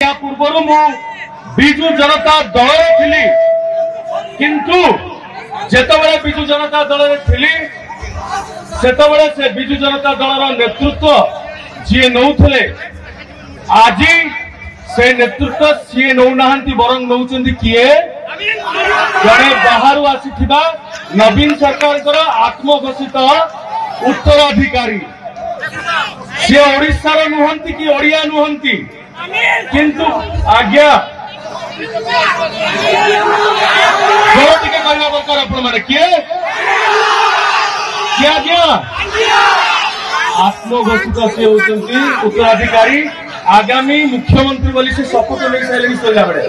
ୟା ପୂର୍ବରୁ ମୁଁ ବିଜୁ ଜନତା ଦଳରେ ଥିଲି, କିନ୍ତୁ ଯେତେବେଳେ ବିଜୁ ଜନତା ଦଳରେ ଥିଲି ସେତେବେଳେ ସେ ବିଜୁ ଜନତା ଦଳର ନେତୃତ୍ୱ ଯିଏ ନଉଥିଲେ, ଆଜି ସେ ନେତୃତ୍ୱ ସିଏ ନଉନାହାନ୍ତି, ବରଂ ନଉଛନ୍ତି କିଏ? ଜଣେ ବାହାରୁ ଆସିଥିବା ନବୀନ ସରକାରଙ୍କର ଆତ୍ମଘୋଷିତ ଉତ୍ତରାଧିକାରୀ। ସିଏ ଓଡ଼ିଶାର ନୁହନ୍ତି କି ଓଡ଼ିଆ ନୁହନ୍ତି, କିନ୍ତୁ ଆଜ୍ଞା ସ୍ୱର ଟିକେ କହିବା ଦରକାର ଆପଣମାନେ। କିଏ କିଏ ଆଜ୍ଞା? ଆତ୍ମଘୋଷିତ ସିଏ ହଉଛନ୍ତି ଉତ୍ତରାଧିକାରୀ, ଆଗାମୀ ମୁଖ୍ୟମନ୍ତ୍ରୀ ବୋଲି ସେ ଶପଥ ନେଇ ସାରିଲେଣି ଶୋଇଲା ବେଳେ।